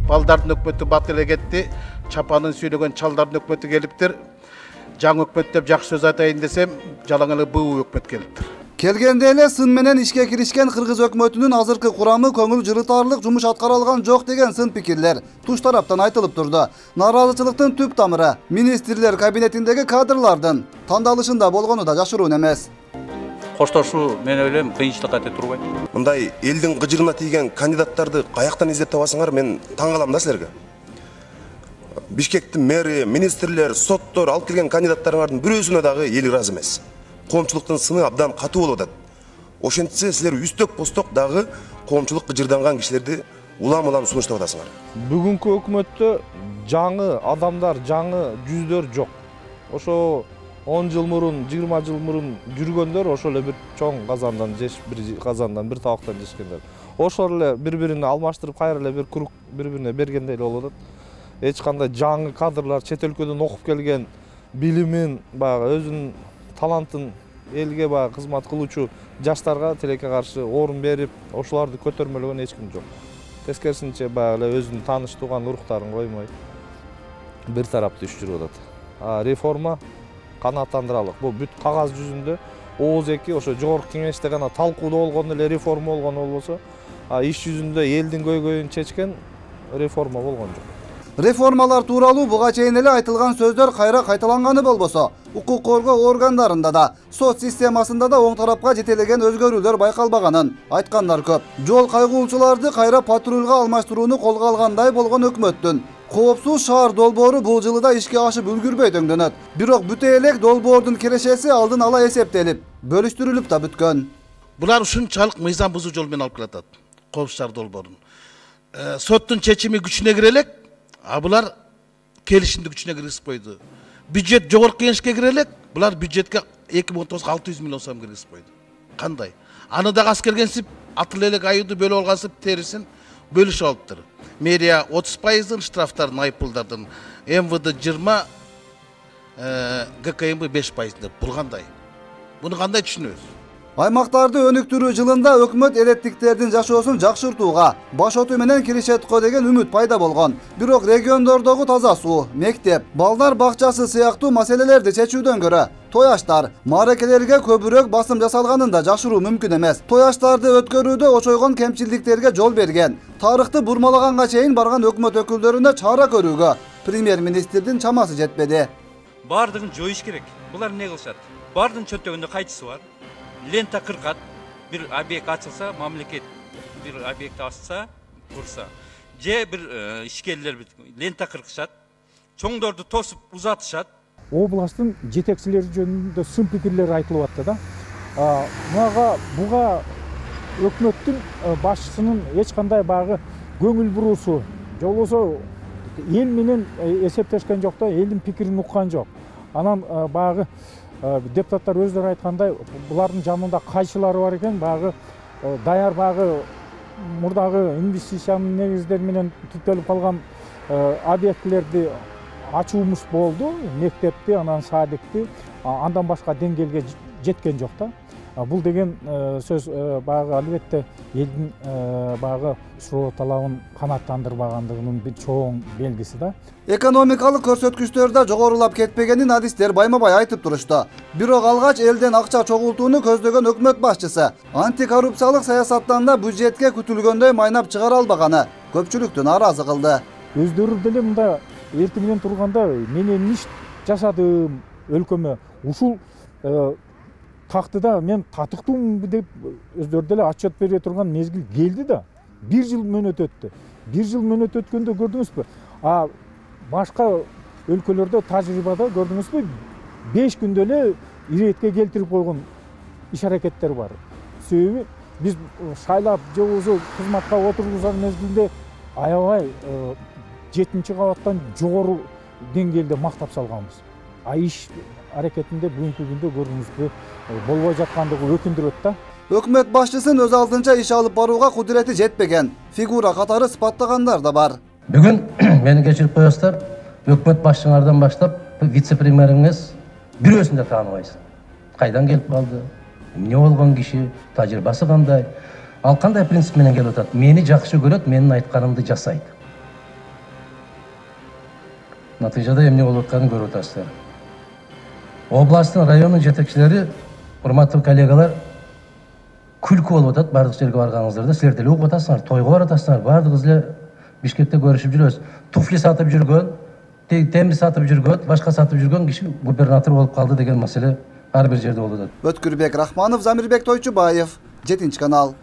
балдардын өкмөтү бат эле кетти, чапанын сүйлөгөн чалдардын өкмөтү келиптир. Жаңы өкмөт деп жакшы сөз айтайын десем, жалаң эле буу өкмөт келиптир. Келгенде эле сын менен ишке киришкен Кыргыз өкмөтүнүн азыркы курамы көңүл жырытарлык жумуш аткара алган жок деген сын пикирлер туш тараптан айтылып турду. Нааразычылыктын түп тамыры министрлер кабинетиндеги кадрлардын тандалышында болгону да жашыруун эмес. Коштошуу мен ойлойм кыйынчылыкка өтө турбайт. Мындай элдин кыжырына тийген кандидаттарды каяктан издеп табасыңар, мен таң калам да силерге. Бишкектин мэри, министрлер, соттор алып келген кандидаттарыңардын бирөөсүнө дагы эл ыраазы эмес. Коомчулуктун сыны абдан катуу болуп атат. Ошентсе силер үстөк посток дагы коомчулук кыжырданган кишилерди улам-улам сунуштап атасыңар. Бүгүнкү өкмөттө жаңы адамдар, жаңы жүздөр жок. Ошо 10 жыл мурун, 20 жыл мурун жүргөндөр ошол эле бир чоң казандан жеш, бир казандан бир табактан жешкендер. Ошол эле бири-бирине алмаштырып, кайра эле бир курук бири-бирине бергендей эле болуп атат. Эч кандай жаңы кадрлар, чет өлкөдөн окуп келген, билимин, баягы өзүнүн талантын элге баягы кызмат кылуучу жаштарга тилекке каршы орун берип, ошолорду көтөрмөлөгөн эч ким жок. Тескерисинче баягы эле өзүнүн тааныш тууган уруктарын коймой бир тараптуу иш жүрүп атат. Реформа канааттандыралык. Бул бүт кагаз жүзүндө ооз эки ошо жогорку кеңеште гана талкуудо болгон эле реформа болгон болбосо, иш жүзүндө элдин көйгөйүн чечкен реформа болгон жок. Реформалар тууралуу буга чейин эле айтылган сөздөр кайра кайталанганы болбосо, укук коргоо органдарында да, сот системасында да оң тарапка жетелеген өзгөрүүлөр байкалбаганын айткандар көп. Жол кайгуулчуларды кайра патрульга алмаштырууну колго алгандай болгон өкмөттүн коопсуз шаар долбоору бул жылы да ишке ашып үлгүрбөй дөңдөнөт. Бирок бүтө элек долбоордун кирешеси алдын ала эсептелип, бөлүштүрүлүп да бүткөн. Булар ушунчалык мыйзам бузуу жол менен алып келатат. Коопсуз шаар долбоорун. Соттун чечими күчүнө кире элек, а булар келишимди күчүнө киргизип койду. Бюджет жогорку кеңешке кире элек, булар бюджетке 2019 600 миллион сом киргизип койду. Кандай? Аны дагы аскергенсип, атыл элек аюуду бөлүп алгансып терисин бөлүшүп алыптыр. Мэрия 30%, штрафтардын, айыппулдардын, МВД 20, ГКМБ 5%. Бул кандай? Буну кандай түшүнөбүз? Аймактарды өнүктүрүү жылында өкмөт элеттиктердин жашоосун жакшыртууга баш оту менен киришет го деген үмүт пайда болгон. Бирок региондордогу таза суу, мектеп, балдар бакчасы сыяктуу маселелерди чечүүдөн көрө той аштар, мааракелерге көбүрөөк басым жасалганын да жашыруу мүмкүн эмес. Той аштарды өткөрүүдө очойгон кемчилдиктерге жол берген, тарыхты бурмалаганга чейин барган өкмөт өкүлдөрүнө чара көрүүгө премьер-министрдин чамасы жетпеди. Бардыгын жоюш керек. Булар эмне кылышат? Бардын чөнтөгүндө кайчысы бар? Лента кыркат, бир объект ачылса, мамлекет бир объект ачса, курса, же бир ишкерлер лента кыркышат, чоңдорду тосуп узатышат. Областтын жетекчилери жөнүндө сын пикирлер айтылып атты да. Буга өкмөттүн башчысынын эч кандай багы көңүл буруусу, же болбосо эл менен эсептешкен жок да, элдин пикирин уккан жок. Анан багы депутаттар өздөрү айткандай, булардын жанында кайчылары бар экен, багы даяр багы мурдагы инвестициянын негиздери менен түптөлүп калган объектилерди ачуумуз болду, мектепти, анан садикти, андан башка деңгээлге жеткен жок да. Бул деген сөз багы албетте элдин багы суроо талабын канааттандырбагандыгынын бир чоң белгиси да. Экономикалык көрсөткүчтөрдө жогорулап кетпегенин адистер байма-бай айтып турушту. Бирок алгач элден акча чогултууну көздөгөн өкмөт башчысы антикоррупциялык саясаттан да бюджетке күтүлгөндөй майнап чыгара албаганы көпчүлүктү нааразы кылды. Өздөрү деле мында эртең менен турганда мен эмне иш жасадым өлкөмө, ушул тактыда мен татыктуумбу деп өздөрү деле отчет бере турган мезгил келди да. 1 жыл мөөнөт өттү. 1 жыл мөөнөт өткөндө көрдүңүзбү? Башка өлкөлөрдө тажрыйбада көрдүңүзбү? 5 күндө эле иретке келтирип койгон иш аракеттер бар. Себеби биз шайлап же болбосо кызматка отургузган мезгилде аябай 7-чи кабаттан жогору деңгээлде мактап салганбыз. Иш аракетинде бүгүнкү күндө көрдүңүзбү болбой жаткандыгы өкүндүрөт да. Өкмөт башчысын өз алдынча иш алып барууга кудурети жетпеген фигура катары сыпаттагандар да бар. Бүгүн мени кечирип коесуздар, өкмөт башчыңардан баштап вице-премьериңиз бирөөсүн да тааныбайсың. Кайдан келип калды? Эмне болгон киши? Тажрыйбасы кандай? Ал кандай принцип менен келип атат? Мени жакшы көрөт, менин айтканымды жасайт. Натыйжада эмне болуп атканын көрүп атасыздар. Областтын, райондун жетекчилери, урматтуу коллегалар, күлкү болуп атат бардык жерге барганыңыздарда. Силер деле угуп атасыңар, тойго баратасыңар. Бардыгыбыз эле Бишкекте көрүшүп жүрөбүз. Туфли сатып жүргөн, темир сатып жүргөн, башка сатып жүргөн киши губернатор болуп калды деген маселе ар бир жерде болуп атат. Өткүрбек Рахманов, Замирбек Тойчубаев, 7 канал.